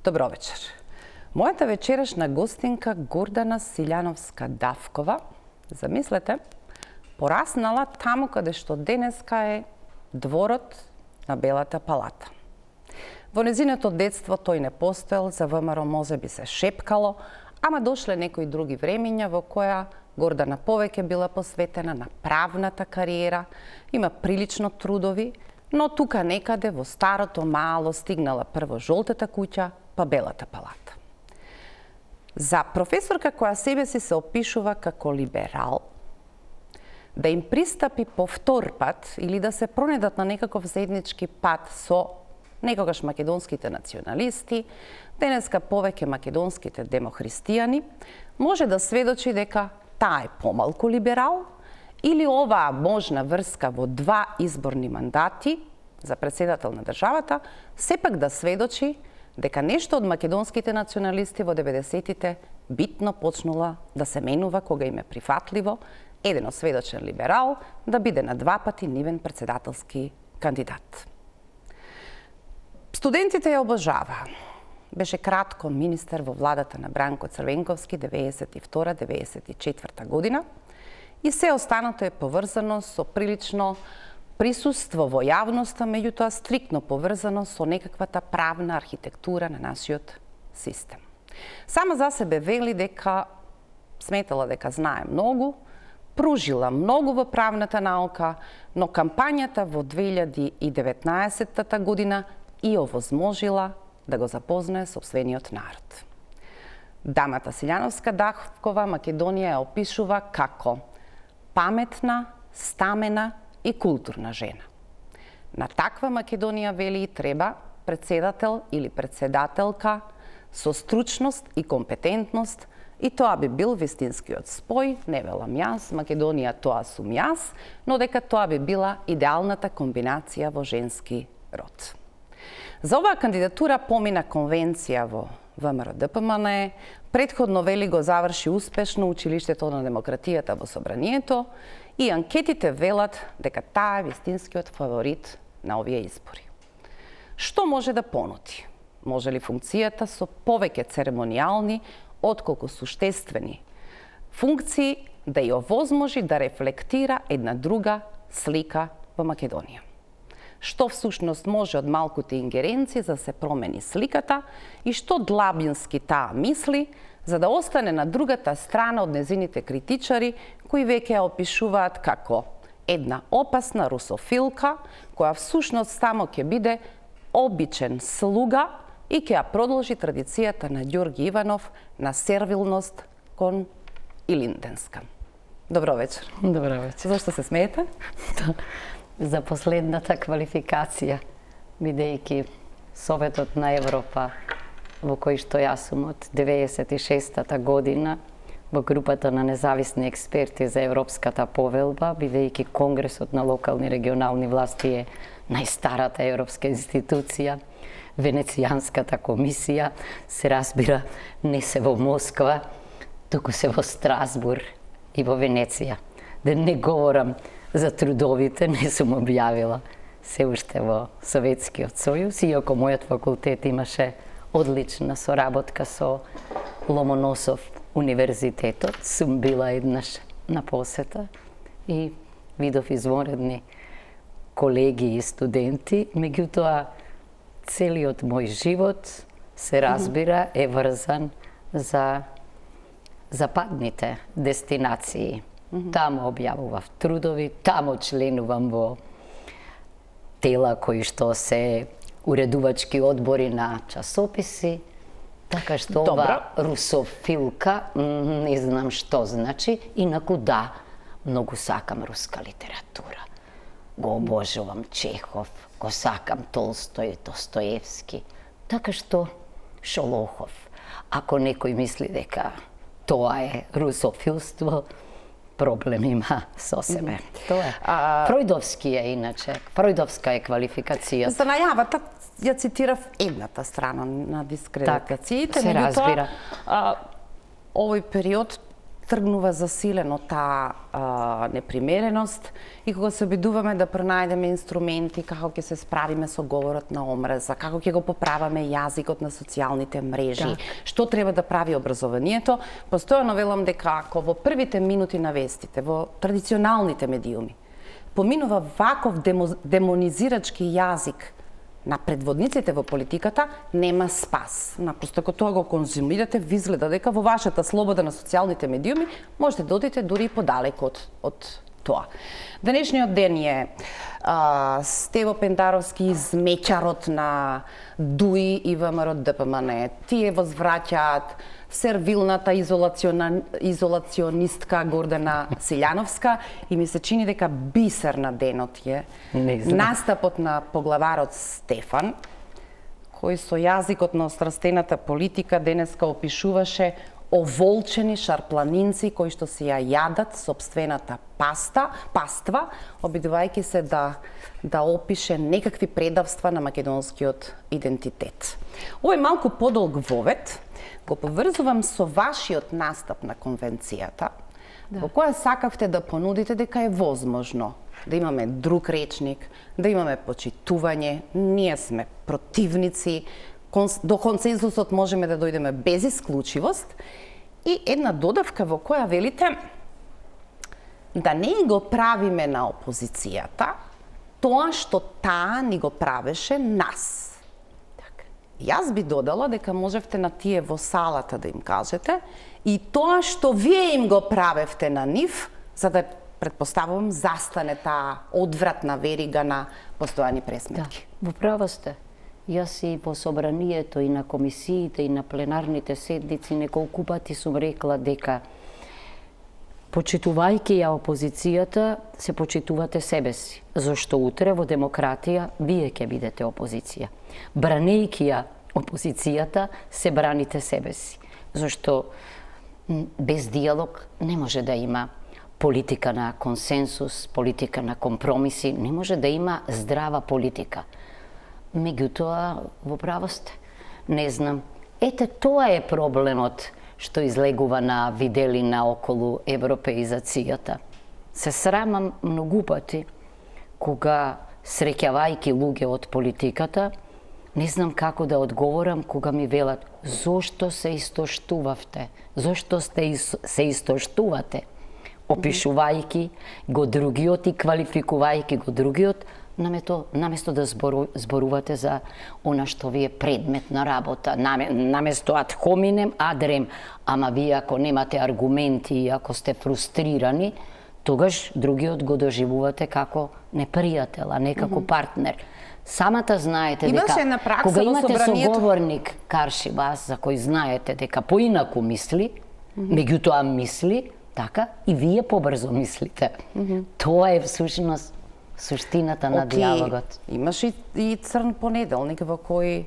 Добро вечер. Мојата вечерашна гостинка Гордана Силјановска-Давкова, замислете, пораснала таму каде што денеска е дворот на Белата палата. Во незиното детство тој не постоел, за ВМРО може би се шепкало, ама дошле некои други времиња во која Гордана повеќе била посветена на правната кариера, има прилично трудови, но тука некаде во старото мало стигнала прво жолтата куќа, па Белата палата. За професорка која себе си се опишува како либерал, да им пристапи повтор пат или да се пронедат на некаков заеднички пат со некогаш македонските националисти, денеска повеќе македонските демохристијани, може да сведочи дека таа е помалку либерал или оваа можна врска во два изборни мандати за председател на државата сепак да сведочи дека нешто од македонските националисти во 90-тите битно почнула да се менува кога им е прифатливо еден осведочен либерал да биде на два пати нивен председателски кандидат. Студентите ја обожаваа. Беше кратко министер во владата на Бранко Црвенковски 92-94 година и се останато е поврзано со прилично присуство во јавноста, меѓутоа стриктно поврзано со некаквата правна архитектура на нашиот систем. Сама за себе вели дека сметала дека знае многу, пружила многу во правната наука, но кампањата во 2019 година и овозможила да го запознае сопствениот народ. Дамата Силјановска-Давкова Македонија ја опишува како паметна, стамена и културна жена. На таква Македонија, вели, и треба председател или председателка со стручност и компетентност, и тоа би бил вистинскиот спој, не велам јас, Македонија тоа сум јас, но дека тоа би била идеалната комбинација во женски род. За оваа кандидатура помина конвенција во ВМРО-ДПМН, претходно, вели, го заврши успешно училиштето на демократијата во Собранието и анкетите велат дека таа е вистинскиот фаворит на овие избори. Што може да понуди? Може ли функцијата со повеќе церемонијални отколку суштествени функции да ја овозможи да рефлектира една друга слика во Македонија? Што всушност може од малкуте ингеренции за да се промени сликата и што длабински таа мисли за да остане на другата страна од незините критичари кои веќе ја опишуваат како една опасна русофилка која всушност само ќе биде обичен слуга и ќе ја продолжи традицијата на Ѓорги Иванов на сервилност кон Илинденска. Добро вечер. Добро вечер. Зошто се смеете? За последната квалификација, бидејќи Советот на Европа, во кој што јас сум од 96-та година, во групата на независни експерти за Европската повелба, бидејќи Конгресот на локални регионални власти е најстарата европска институција, Венецијанската комисија, се разбира, не се во Москва, туку се во Страсбур и во Венеција. Да не говорам за трудовите, не сум објавила се уште во Советскиот сојуз, иако мојот факултет имаше одлична соработка со Ломоносов универзитетот, сум била еднаш на посета и видов извонредни колеги и студенти, меѓутоа целиот мој живот, се разбира, е врзан за западните дестинации. Таму објавував трудови, таму членувам во тела кои што се уредувачки одбори на часописи, така што ова русофилка, не знам што значи, инаку да, многу сакам руска литература. Го обожувам Чехов, го сакам Толстој, Достоевски, така што Шолохов. Ако некој мисли дека тоа е русофилство, проблем има со себе. Тоа е. Фројдовски е иначе. Фројдовска е квалификација. За најавата ја цитирав едната страна на дискредитациите, се разбира. Овој период тргнува засилено таа непримереност и кога се обидуваме да пронајдеме инструменти како ќе се справиме со говорот на омраза, како ќе го поправаме јазикот на социјалните мрежи, што треба да прави образованието, постојано велам дека ако во првите минути на вестите, во традиционалните медиуми, поминува ваков демонизирачки јазик на предводниците во политиката, нема спас. Напросто, ако тоа го конзумирате, ви изгледа дека во вашата слобода на социјалните медиуми можете да одите дури и подалеку од тоа. Денешниот ден е Стево Пендаровски измечарот на ДУИ и ВМРО ДПМН. Тие возвраќаат сервилната изолационистка Гордана Силјановска и ми се чини дека бисер на денот е настапот на поглаварот Стефан, кој со јазикот на острастената политика денеска опишуваше оволчени шарпланинци кои што си ја јадат сопствената паства, обидувајќи се да опише некакви предавства на македонскиот идентитет. Овој малку подолг вовед го поврзувам со вашиот настап на конвенцијата, во која сакавте да понудите дека е возможно да имаме друг речник, да имаме почитување, ние сме противници, до консензусот можеме да дојдеме без исклучивост и една додавка во која велите да не го правиме на опозицијата тоа што таа ни го правеше нас. Јас би додала дека можевте на тие во салата да им кажете и тоа што вие им го правевте на нив, за да, предпоставувам, застане таа одвратна верига на постојани пресметки. Да, во право сте. Јас и во собранието и на комисиите и на пленарните седници неколку пати сум рекла дека почитувајќи ја опозицијата, се почитувате себе си, зашто утре во демократија вие ќе бидете опозиција. Бранејќи ја опозицијата, се браните себе си, зашто без диалог не може да има политика на консенсус, политика на компромиси, не може да има здрава политика. Меѓутоа, во право сте, не знам. Ете, тоа е проблемот што излегува на виделина околу европеизацијата. Се срамам многу пати кога, среќавајќи луѓе од политиката, не знам како да одговорам кога ми велат зошто се истоштувавте, зошто се истоштувате, опишувајќи го другиот и квалификувајќи го другиот, наместо да зборувате за она што ви е предмет на работа, наместо ad hominem ad rem, ама вие ако немате аргументи и ако сте фрустрирани, тогаш другиот го доживувате како непријател, а не како партнер. Самата знаете дека кога имате соговорник карши вас, за кој знаете дека поинаку мисли, меѓутоа мисли, така и вие побрзо мислите. Тоа е всушност суштината на диалогот. Имаш и црн понеделник во кој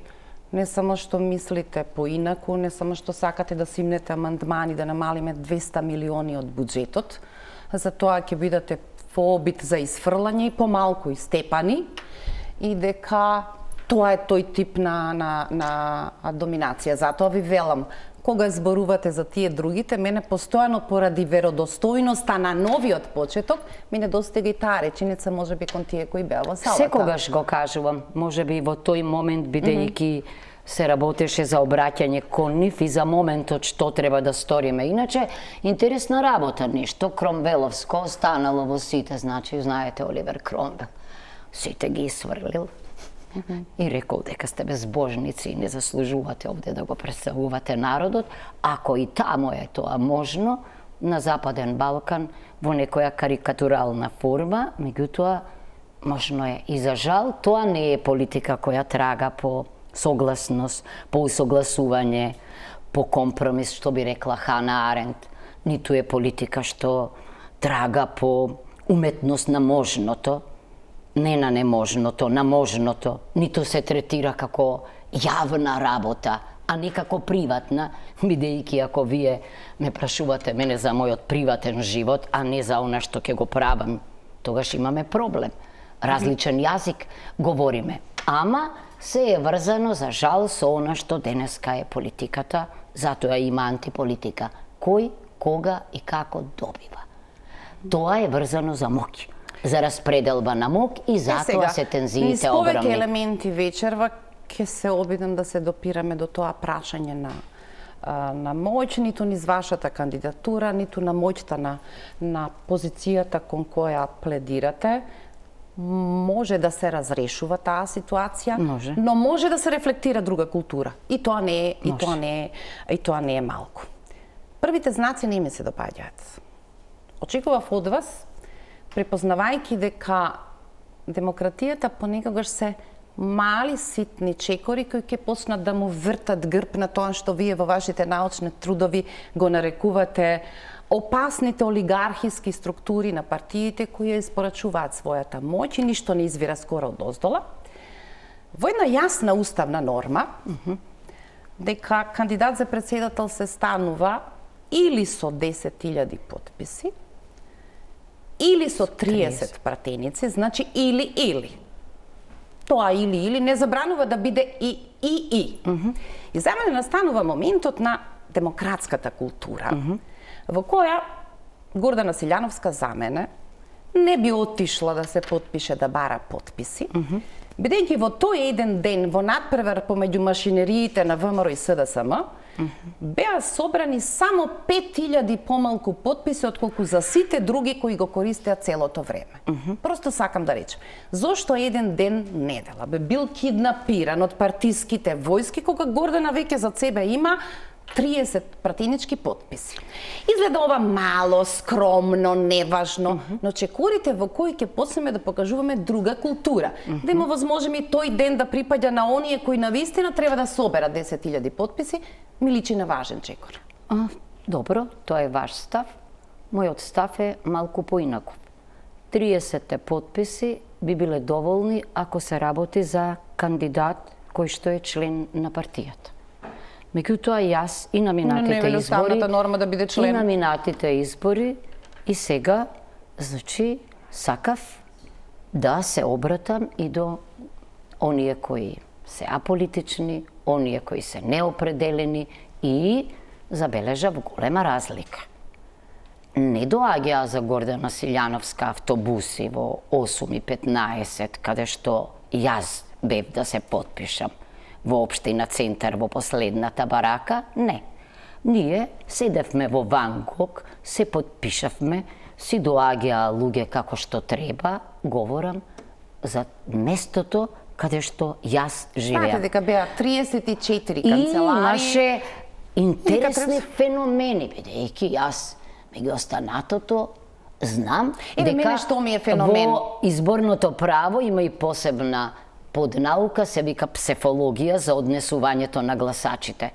не само што мислите поинаку, не само што сакате да симнете амандмани да намалиме 200 милиони од буџетот, за тоа ќе бидете во обид за изфрлање и помалку и степани, и дека тоа е тој тип на доминација. Затоа ви велам, кога зборувате за тие другите, мене постојано поради веродостојноста на новиот почеток, ми недостига и таа реченица, можеби кон тие кои беа во салата. Секогаш го кажувам, можеби во тој момент, бидејќи се работеше за обраќање кон нив и за моментот што треба да сториме. Иначе, интересна работа, нешто кромвеловско останало во сите, значи, знаете, Оливер Кромвел. Сите ги сврлил и рекол дека сте безбожници и не заслужувате овде да го представувате народот. Ако и тамо е тоа можно, на Западен Балкан, во некоја карикатурална форма, меѓутоа, можно е и за жал, тоа не е политика која трага по согласност, по усогласување, по компромис, што би рекла Хана Аренд. Ниту е политика што трага по уметност на можното, не на неможното, на можното, ниту се третира како јавна работа, а не како приватна, бидејќи ако вие ме прашувате мене за мојот приватен живот, а не за она што ќе го правам, тогаш имаме проблем. Различен јазик говориме, ама се е врзано за жал со она што денеска е политиката, затоа има антиполитика. Кој кога и како добива. Тоа е врзано за моќ, за распределба на моќ и затоа се тензиите огромни. Низ повеќе елементи вечерва ќе се обидам да се допираме до тоа прашање на моќ, ниту низ вашата кандидатура, ниту на моќта на позицијата кон која пледирате. Може да се разрешува таа ситуација, но може да се рефлектира друга култура. И тоа не е малку. Првите знаци не ми се допаѓаат. Очекував од вас, препознавајќи дека демократијата понекогаш се мали ситни чекори кои ќе почнат да му вртат грб на тоа што вие во вашите научни трудови го нарекувате опасните олигархиски структури на партиите кои ја испорачуваат својата моќ и ништо не извира скоро од оздола. Во една јасна уставна норма дека кандидат за претседател се станува или со 10.000 потписи, или со 30 пратеници, значи или. Тоа или не забранува да биде и. И за мене настанува моментот на демократската култура, во која Гордана Силјановска за мене не би отишла да се потпише да бара потписи, бидејќи во тој еден ден во надпревар помеѓу машинериите на ВМРО и СДСМ беа собрани само 5.000 помалку потписи отколку за сите други кои го користеа целото време. Просто сакам да речем, зошто еден ден недела бе бил киднапиран од партиските војски кога Гордана веќе за себе има 30 пратенички потписи. Изгледа ова мало, скромно, неважно, но чекорите во кои ќе почнеме да покажуваме друга култура. Да има возможност и тој ден да припаѓа на оние кои навистина треба да соберат 10.000 потписи, ми личи на важен чекор. Добро, тоа е ваш став. Мојот став е малку поинаков. 30 потписи би биле доволни ако се работи за кандидат кој што е член на партијата. Меѓутоа јас и на минатите избори, норма да биде член. И на минатите избори, и сега, значи, сакав да се обратам и до оние кои се аполитични, оние кои се неопределени и забележав голема разлика. Не доаѓаа за Гордана Силјановска автобуси во 8:15, каде што јас бев да се потпишам. Во општина Центар, во последната барака, не. Ние седевме во Вангок, се потпишавме, си доаѓаа луѓе како што треба, говорам за местото каде што јас живеам. Знаете дека беа 34 канцелари. И имаше интересни феномени, бидејќи јас меѓу останатото знам дека што ми е феномен. Во изборното право има и посебна поднаука, се вика псефологија за однесувањето на гласачите.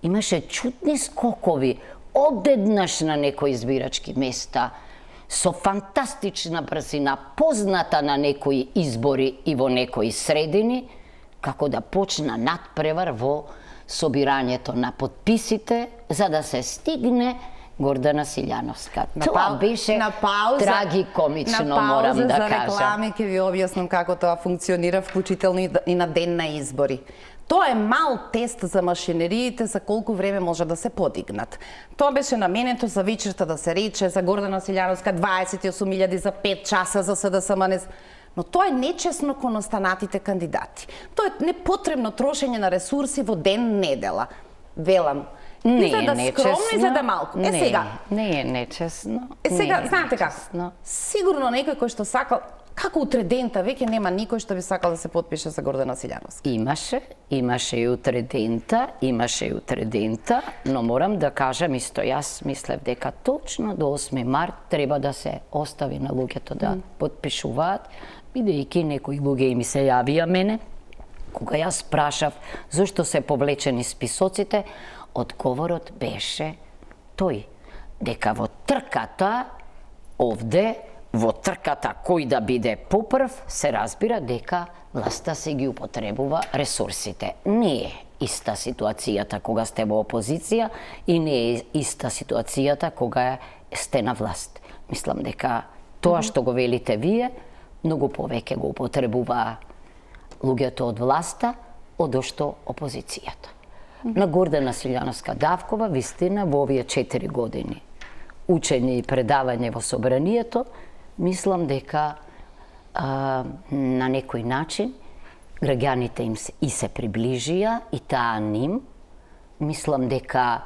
Имаше чудни скокови одеднаш на некои избирачки места, со фантастична брзина, позната на некои избори и во некои средини, како да почна надпревар во собирањето на потписите, за да се стигне Гордана Силјановска. Тоа беше трагикомично, морам да кажам. На пауза за реклами ќе ви објаснам како тоа функционира, вклучително и на ден на избори. Тоа е мал тест за машинериите за колку време може да се подигнат. Тоа беше наменето за вечерта да се рече за Гордана Силјановска 28.000 за 5 часа за СДСМ. Но тоа е нечесно кон останатите кандидати. Тоа е непотребно трошење на ресурси во ден недела. Велам, не е нечесно. Скромно и за да малку. Сега. Не е нечесно. Сега, знаете како? Сигурно некој кој што сакал, како утре дента, веќе нема никој што би сакал да се потпише за Гордана Силјановска. Имаше и утре дента, но морам да кажам исто, јас мислев дека точно до 8 март треба да се остави на луѓето да потпишуваат, бидејќи некои луѓе ми се јавија мене, кога јас прашав зошто се повлечени списоците, одговорот беше тој, дека во трката овде, во трката кој да биде попрв, се разбира дека власта се ги употребува ресурсите. Не е иста ситуацијата кога сте во опозиција и не е иста ситуацијата кога сте на власт. Мислам дека тоа што го велите вие, многу повеќе го употребува луѓето од власта, одошто опозицијата. На Гордана Силјановска Давкова, вистина, во овие 4 години учење и предавање во собранието, мислам дека на некој начин граѓаните им и се приближија и таа ним. Мислам дека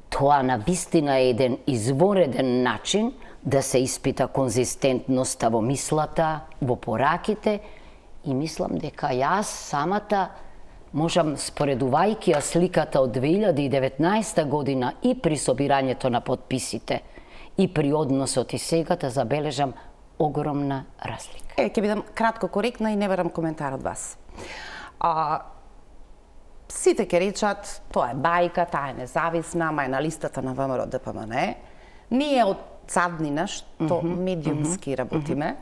тоа навистина е еден извореден начин да се испита конзистентноста во мислата, во пораките, и мислам дека јас самата можам, споредувајќи ја сликата од 2019 година и при собирањето на подписите и при односот и сега, да забележам огромна разлика. Ќе бидам кратко коректна и не барам коментар од вас. Сите ќе речат, тоа е бајка, таа е независна, ама е на листата на ВМРО ДПМН. Ние од цаднина, што медиумски работиме,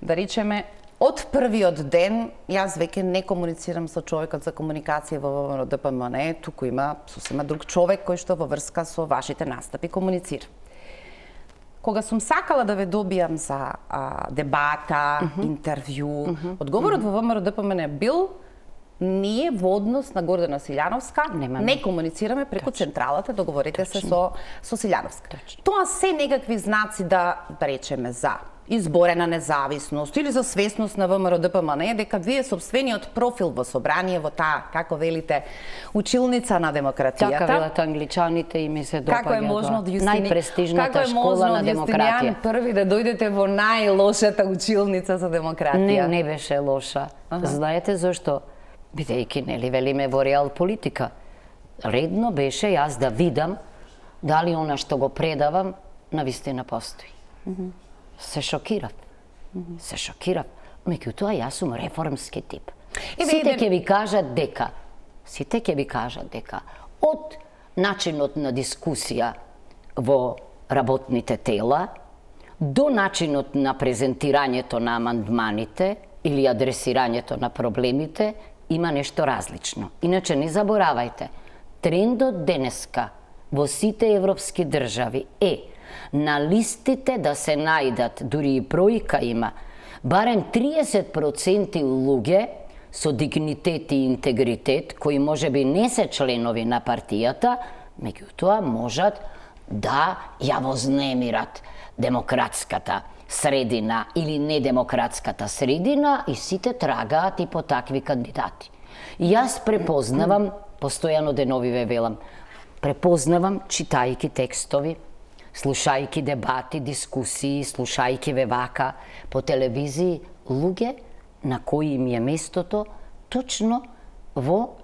да речеме, од првиот ден, јас веќе не комуницирам со човекот за комуникација во ВМРО ДПМН, туку има сосема друг човек кој што во врска со вашите настапи комуницира. Кога сум сакала да ве добијам за дебата, интервју, одговорот во ВМРО ДПМН бил: ние во однос на Гордана Силјановска не комуницираме преку централата, договорите се со Силјановска. Тоа се некакви знаци да речеме за изборена независност или за свесност на ВМРО ДПМН, дека вие сопствениот профил во собрание, во таа, како велите, училница на демократијата. Така велат англичаните и ми се допаѓа. Како е можно од најпрестижната школа на демократија. Први да дојдете во најлошата училница за демократија? Не беше лоша. Знаете зошто? Бидејќи, нели, велиме во реал политика. Редно беше јас да видам дали она што го предавам навистина постои. Се шокирав. Се шокирав. Меѓутоа, јас сум реформски тип. Сите ќе ви кажат дека од начинот на дискусија во работните тела до начинот на презентирањето на амандманите или адресирањето на проблемите има нешто различно. Иначе не заборавајте, трендот денеска во сите европски држави е на листите да се најдат, дури и бројка има, барем 30% луѓе со дигнитет и интегритет, кои можеби не се членови на партијата, меѓутоа можат да ја вознемират демократската средина или недемократската средина, и сите трагаат и по такви кандидати. Јас препознавам, постојано денови ве велам, препознавам читајки текстови, слушајки дебати, дискусии, слушајки ве вака по телевизии, луѓе на кои им е местото точно во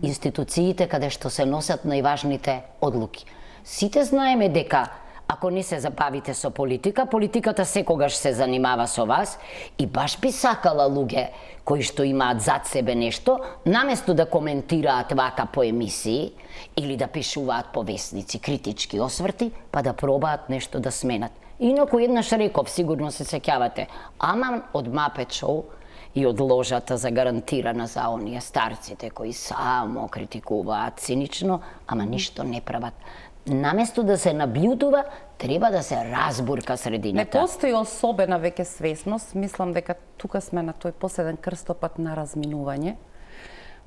институциите каде што се носат најважните одлуки. Сите знаеме дека ако не се забавите со политика, политиката секогаш се занимава со вас, и баш би сакала луѓе кои што имаат зад себе нешто, наместо да коментираат вака по емисии или да пишуваат по весници критички осврти, па да пробаат нешто да сменат. Инаку еднаш реков, сигурно се сеќавате, ама од Мапет Шоу и од ложата загарантирана за оние старците кои само критикуваат цинично, ама ништо не прават. Наместо да се набљудува, треба да се разбурка средината. Не постои особена веќе свесност, мислам дека тука сме на тој последен крстопат на разминување,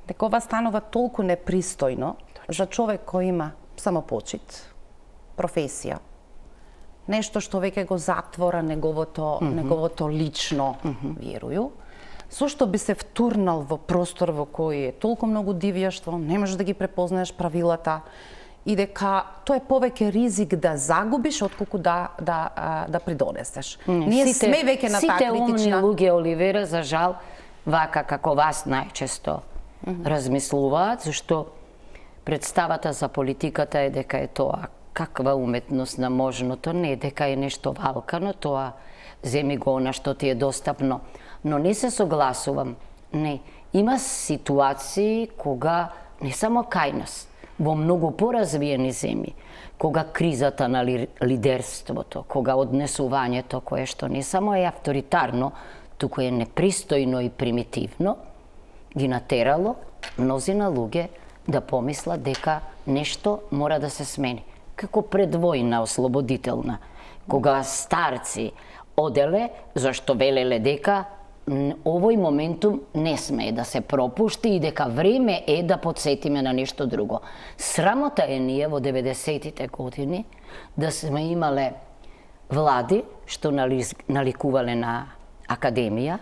дека ова станува толку непристојно за човек кој има самопочит, професија, нешто што веќе го затвора неговото лично верују, со што би се втурнал во простор во кој е толку многу дивјаштво, не можеш да ги препознаеш правилата, и дека тоа е повеќе ризик да загубиш отколку да придонесеш. Ние сме веќе на таа критична... Сите умни луѓе, Оливера, за жал, вака како вас најчесто размислуваат, зашто представата за политиката е дека е тоа каква уметност на можното, не дека е нешто валкано, тоа земи го она што ти е достапно. Но не се согласувам. Не, има ситуации кога не само кај нас, во многу поразвиени земји, кога кризата на лидерството, кога однесувањето кое што не само е авторитарно, туку е непристојно и примитивно, ги натерало мнозина луѓе да помислат дека нешто мора да се смени. Како предвојна ослободителна, кога старци оделе зашто велеле дека овој моментум не смее да се пропушти и дека време е да подсетиме на нешто друго. Срамота е ние во 90-тите години да сме имале влади што наликувале на академија,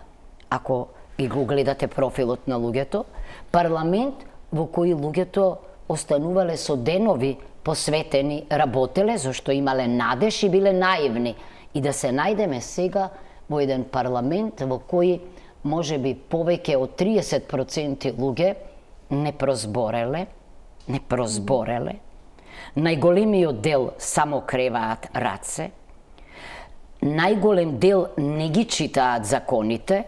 ако и го гледате профилот на луѓето, парламент во кој луѓето останувале со денови посветени, работеле, зашто имале надеж и биле наивни. И да се најдеме сега во еден парламент во кој може би повеќе од 30% луѓе не прозбореле, најголемиот дел само креваат раце, најголем дел не ги читаат законите,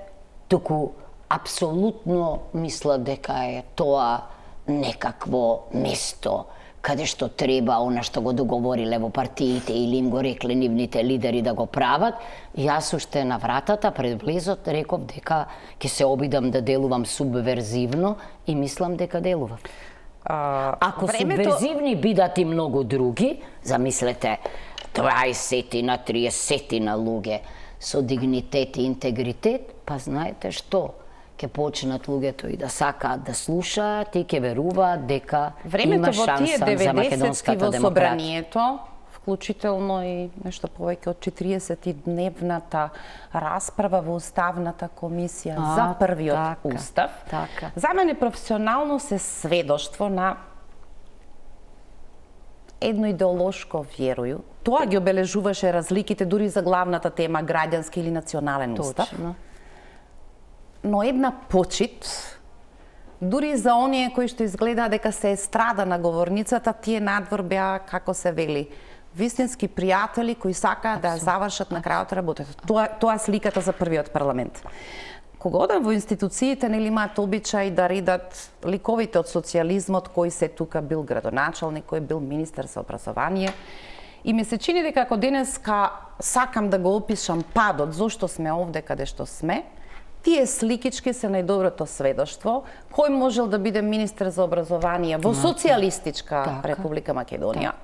туку апсолутно мислат дека е тоа некакво место каде што треба она што го договориле во партиите или им го рекле нивните лидери да го прават. Јас уште на вратата пред влезот реков дека ќе се обидам да делувам субверзивно и мислам дека делувам. Ако субверзивни бидат и многу други, замислете 20-на, 30-на луѓе со дигнитет и интегритет, па знаете што? Ке почнат луѓето и да сакаат да слушаат и ке веруваат дека има шанса за македонската демократија. Во собранието, вклучително и нешто повеќе од 40-дневната расправа во Уставната комисија за првиот устав, за мене професионално се сведоштво на едно идеолошко верую. Тоа ги обележуваше разликите дури за главната тема граѓански или национален устав. Точно. Но една почит, дури за оние кои што изгледа дека се страда на говорницата, тие надвор беа, како се вели, вистински пријатели кои сакаат да ја завршат на крајот работата. Тоа сликата за првиот парламент. Кога одам во институциите, нели имаат обичај да редат ликовите од социјализмот, кој се тука бил градоначалник, кој бил министер за образование. И ми се чини дека ако денеска сакам да го опишам падот, зошто сме овде каде што сме, тие сликички се најдоброто сведоштво кој можел да биде министер за образование во социјалистичка Република Македонија.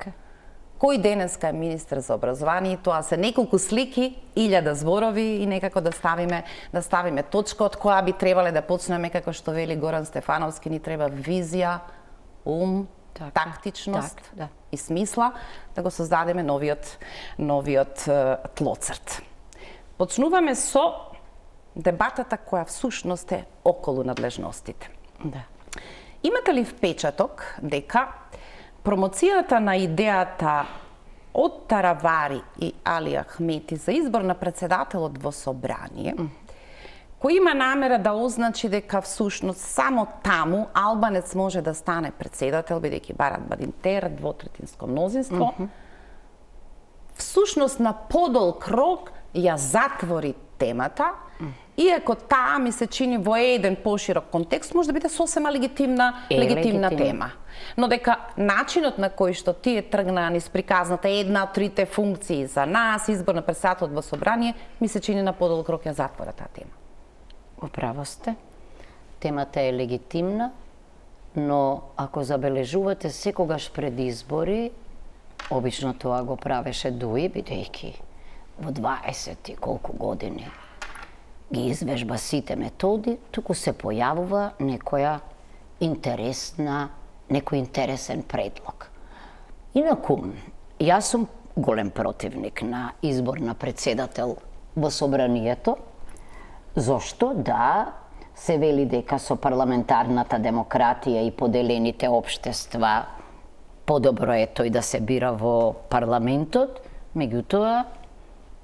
Кој денеска е министер за образование, тоа се неколку слики, 1000 зборови и некако да ставиме точка од која би требале да почнеме, како што вели Горан Стефановски, ни треба визија, ум, тактичност и смисла да го создадеме новиот тлоцрт. Почнуваме со дебатата која всушност е околу надлежностите. Имате ли впечаток дека промоцијата на идејата од Таравари и Али Ахмети за избор на председателот во собрание, кој има намера да означи дека всушност само таму албанец може да стане председател, бидејќи барат Бадинтер, двотретинско мнозинство, всушност на подолг рок ја затвори темата, иако таа ми се чини во еден поширок контекст може да биде сосема легитимна тема. Но дека начинот на кој што тие тргнаа низ приказната една од трите функции за нас, избор на председателот во собрание, ми се чини на подолг рок ја затвора таа тема. Управо сте. Темата е легитимна, но ако забележувате секогаш пред избори, обично тоа го правеше Дуи, бидејќи во 20 и колку години ги извежба сите методи, туку се појавува некој интересен предлог. Инаку, јас сум голем противник на избор на председател во собранието, зошто се вели дека со парламентарната демократија и поделените општества подобро е тој да се бира во парламентот, меѓутоа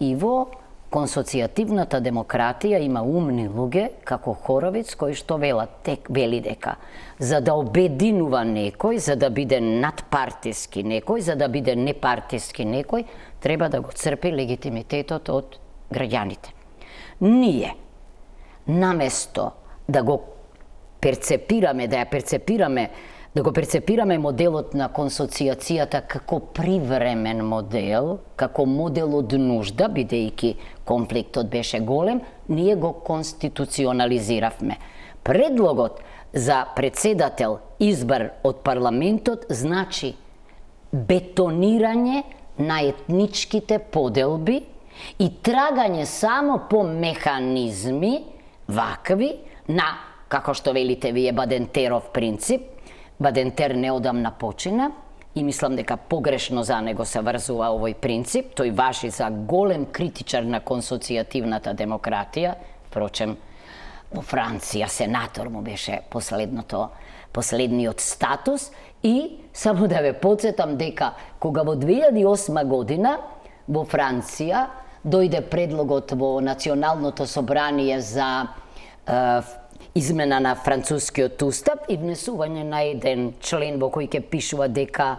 и во консоцијативната демократија има умни луѓе, како Хоровиц, кои што вели дека за да обединува некој, за да биде надпартиски некој, за да биде непартиски некој, треба да го црпи легитимитетот од граѓаните. Ние, наместо да го перцепираме, да го перцепираме моделот на консоцијацијата како привремен модел, како модел од нужда, бидејќи конфликтот беше голем, ние го конституционализиравме. Предлогот за председател избор од парламентот значи бетонирање на етничките поделби и трагање само по механизми вакви, на, како што велите вие, Бадентеров принцип. Бадентер неодамна почина и мислам дека погрешно за него се врзува овој принцип. Тој важи за голем критичар на консоцијативната демократија. Впрочем, во Франција сенатор му беше последниот статус. И само да ве подсетам дека кога во 2008 година во Франција дојде предлогот во Националното собрание за измена на францускиот устав и внесување на еден член во кој ќе пишува дека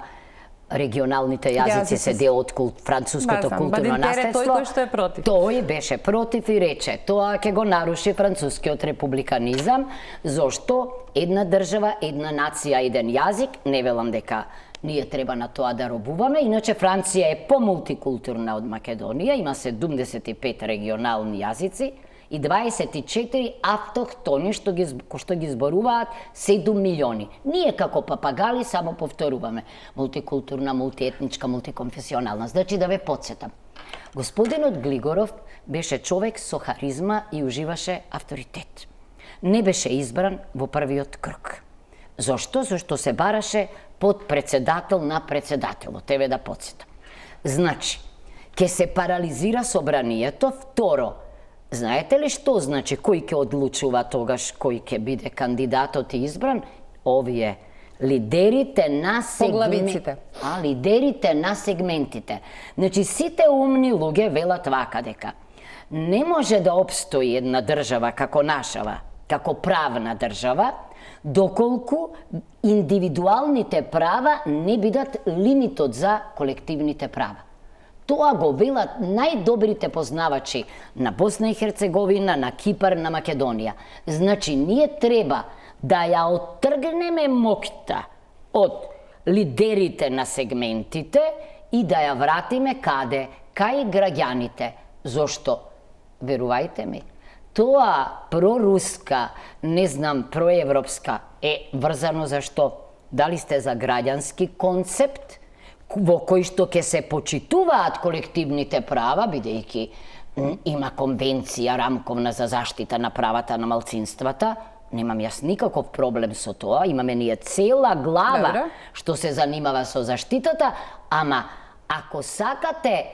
регионалните јазици се дел од француското културно наследство. Тој кој што е против. Тој беше против и рече тоа ќе го наруши францускиот републиканизам, зошто една држава, една нација, еден јазик. Не велам дека ние треба на тоа да робуваме, иначе Франција е помултикултурна од Македонија, има 75 регионални јазици и 24 автохтони што ги зборуваат 7 милиони. Ние како папагали само повторуваме. Мултикултурна, мултиетничка, мултиконфесионална. Значи да ве подсетам. Господинот Глигоров беше човек со харизма и уживаше авторитет. Не беше избран во првиот круг. Зошто? Зошто се бараше под председател на председателот. Еве да подсетам. Значи, ќе се парализира собранието. Второ, знаете ли што значи кој ќе одлучува тогаш кој ќе биде кандидатот и избран? Овие лидерите на поглавиците. Лидерите на сегментите. Значи сите умни луѓе велат вака дека не може да обстои една држава како нашава, како правна држава, доколку индивидуалните права не бидат лимитот за колективните права. Тоа го велат најдобрите познавачи на Босна и Херцеговина, на Кипар, на Македонија. Значи, ние треба да ја оттргнеме моќта од лидерите на сегментите и да ја вратиме каде? Кај граѓаните. Зошто? Верувајте ми, тоа проруска, не знам, проевропска е врзано за што? Дали сте за граѓански концепт во кој што ќе се почитуваат колективните права, бидејќи има конвенција рамковна за заштита на правата на малцинствата, немам јас никаков проблем со тоа, имаме ние цела глава што се занимава со заштитата, ама ако сакате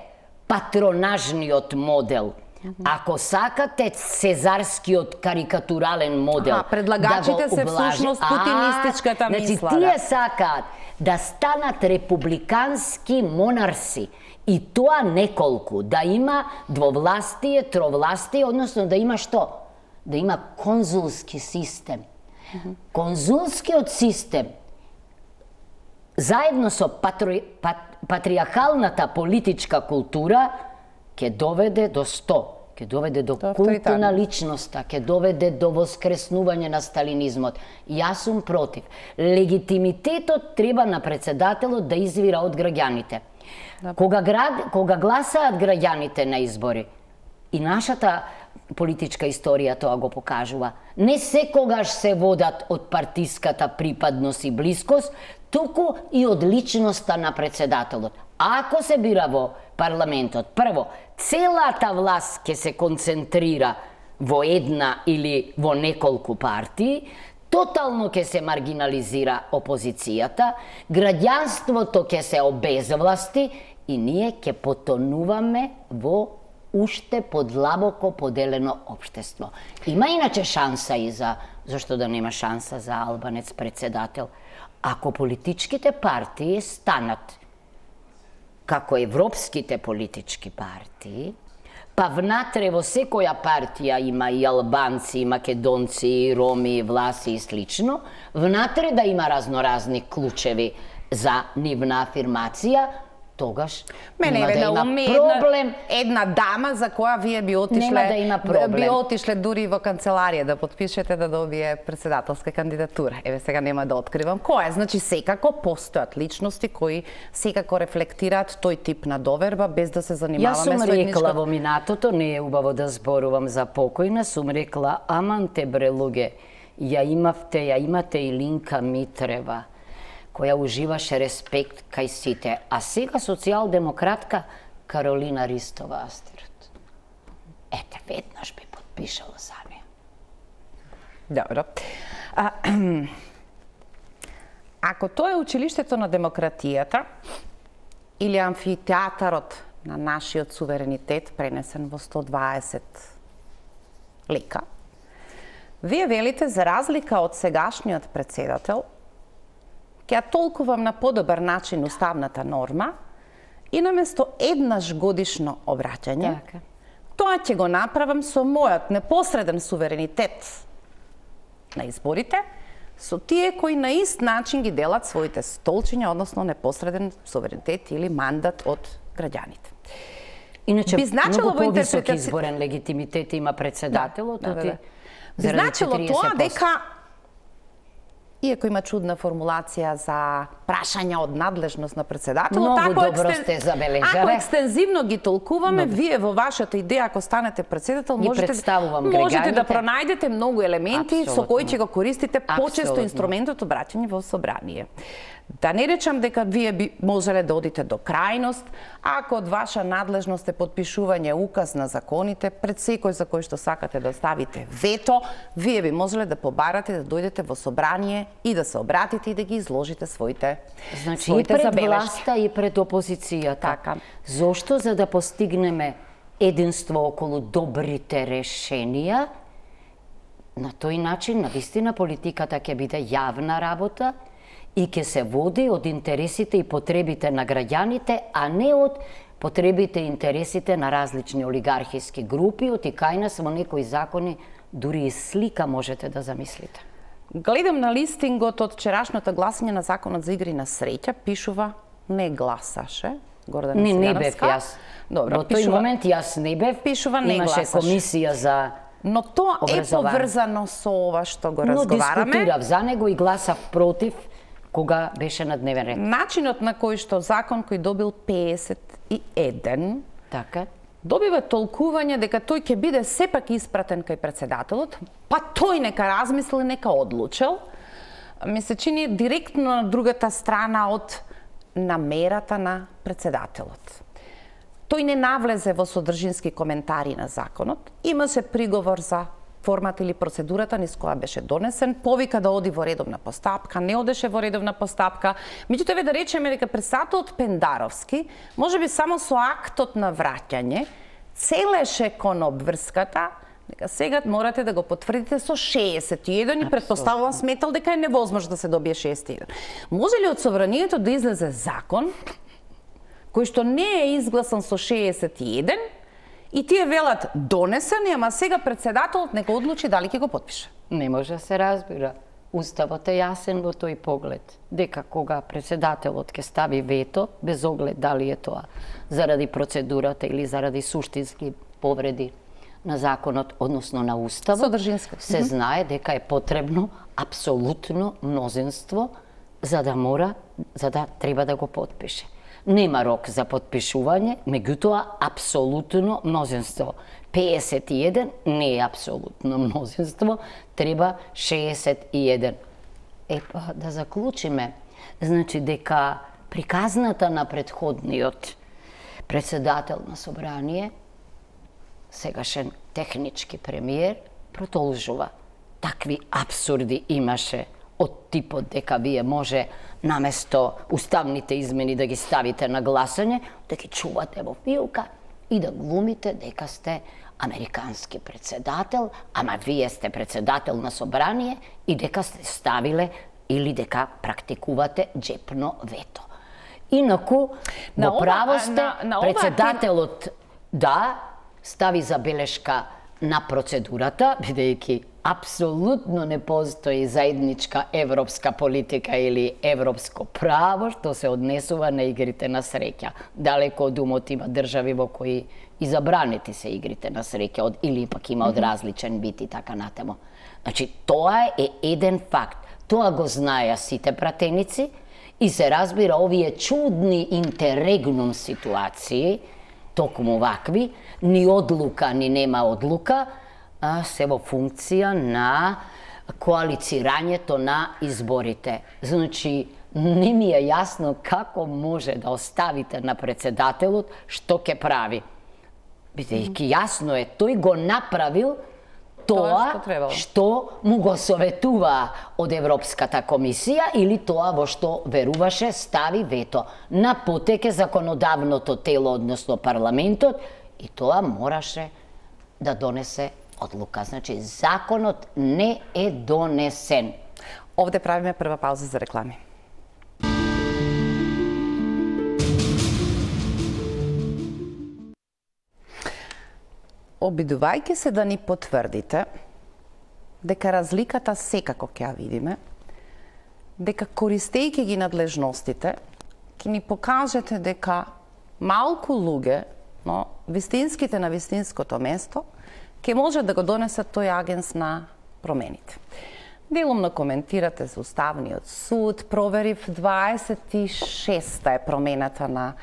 патронажниот модел, ако сакате сезарскиот карикатурален модел, предлагачите се всушност путинистичката мисла. Значи, тие сакаат да станат републикански монарси и тоа неколку, да има двовластие, тровластие, односно да има што? Да има конзулски систем. Конзулскиот систем заедно со патриархалната политичка култура ќе доведе до ќе доведе до култу на личноста, ќе доведе до воскреснување на сталинизмот. Јас сум против. Легитимитетот треба на председателот да извира од граѓаните. Кога гласаат граѓаните на избори, и нашата политичка историја тоа го покажува, не секогаш се водат од партиската припадност и блискост, туку и од личноста на председателот. Ако се бира во парламентот, прво, целата власт ќе се концентрира во една или во неколку партии, тотално ќе се маргинализира опозицијата, граѓанството ќе се обезвласти и ние ќе потонуваме во уште подлабоко поделено општество. Има иначе шанса и зашто да нема шанса за албанец председател? Ако политичките партии станат како европските политички партии, па внатре во секоја партија има и албанци, и македонци, и роми, и власи и слично, внатре да има разноразни клучеви за нивна афирмација, тогаш нема да има проблем. Една дама за која вие би отишле дури во канцеларија да подпишете да добие председателска кандидатура. Еве сега нема да откривам која. Значи секако постојат личности кои секако рефлектираат тој тип на доверба без да се занимаваме со едничко. Јас сум рекла во минатото, не е убаво да зборувам за покојна, сум рекла аман те бре луѓе, ја имате и Линка Митрева, која уживаше респект кај сите, а сега социјалдемократка Каролина Ристова Астерот. Ете, веднаш би подпишала за неја. Добро. Ако тоа е училиштето на демократијата или амфитеатарот на нашиот суверенитет пренесен во 120 лика, вие велите за разлика од сегашниот председател, ќе ја толкувам на подобар начин уставната норма и наместо еднаш годишно обраќање, тоа ќе го направам со мојот непосреден суверенитет на изборите, со тие кои на ист начин ги делат своите столчиња, односно непосреден суверенитет или мандат од граѓаните. Иначе, многу повисок изборен легитимитет има председателот, би значило тоа дека, иако има чудна формулација за прашања од надлежност на председателот, ако екстензивно ги толкуваме, вие во вашата идеја, ако станете председател, можете да пронајдете многу елементи со кои ќе го користите почесто инструментот обраќање во собрание. Да не речам дека вие би можеле да одите до крајност, ако од ваша надлежност е подпишување указ на законите, пред секој за кој што сакате да ставите вето, вие би можеле да побарате да дојдете во собрание и да се обратите и да ги изложите своите и пред власта и пред опозицијата. Така. Зошто? За да постигнеме единство околу добрите решенија, на тој начин, навистина, политиката ќе биде јавна работа и ќе се води од интересите и потребите на граѓаните, а не од потребите и интересите на различни олигархиски групи, од и кај нас во некои закони дури и слика можете да замислите. Гледам на листингот од вчерашното гласање на законот за игри на среќа, пишува не гласаше Гордана Силјановска. Не бев јас. Добро, во тој момент јас не бев, пишува не имаше гласаше. Комисија за Но тоа е поврзано со ова што го разговараме. Но дискутирав за него и гласав против кога беше на дневен ред. Начинот на кој што закон кој добил 51, така, добива толкување дека тој ќе биде сепак испратен кај председателот, па тој нека размисли, нека одлучел. Ми се чини директно на другата страна од намерата на председателот. Тој не навлезе во содржински коментари на законот, имаше приговор за формата или процедурата низ која беше донесен, повика да оди во редовна постапка, не одеше во редовна постапка. Меѓутоа, еве да речеме дека председателот Пендаровски, можеби само со актот на враќање, целеше кон обврската, дека сега морате да го потврдите со 61 и предпоставувам сметал дека е невозможно да се добие 61. Може ли од собранието да излезе закон кој што не е изгласан со 61 и тие велат донесен, ама сега председателот нека одлучи дали ќе го потпише? Не може да се разбира. Уставот е јасен во тој поглед, дека кога председателот ќе стави вето, без оглед дали е тоа заради процедурата или заради суштински повреди на законот, односно на уставот, се знае дека е потребно апсолутно мнозинство за да треба да го потпише. Нема рок за потпишување, меѓутоа апсолутно мнозинство. 51 не е апсолутно мнозинство, треба 61. Епа, да заклучиме, значи дека приказната на претходниот председател на собрание, сегашен технички премиер, продолжува. Такви апсурди имаше од типот дека вие може наместо уставните измени да ги ставите на гласање, да ги чувате во филка и да глумите дека сте американски председател, ама вие сте председател на собрание и дека сте ставиле или дека практикувате джепно вето. Инаку, во право сте, председателот да стави забелешка на процедурата, бидејќи апсолутно не постои заедничка европска политика или европско право што се однесува на игрите на среќа. Далеко од умот има држави во кои и забранети се игрите на среќа или пак има од различен вид и така натаму. Значи, тоа е еден факт. Тоа го знаеа сите пратеници и се разбира овие чудни интеррегнум ситуации, токму вакви, ни одлука, ни нема одлука, се во функција на коалицирањето на изборите. Значи, не ми е јасно како може да оставите на председателот што ќе прави. Бидејќи јасно е, тој го направил тоа што му го советува од Европската комисија или тоа во што веруваше стави вето на потеке законодавното тело, односно парламентот, и тоа мораше да донесе одлука. Значи, законот не е донесен. Овде правиме прва пауза за реклами. Обидувајќи се да ни потврдите дека разликата секако ќе ја видиме, дека користејќи ги надлежностите, ќе ни покажете дека малку луѓе, но вистинските на вистинското место, ќе може да го донесат тој агенс на промените. Делумно коментирате за Уставниот суд, проверив 26-та е промената на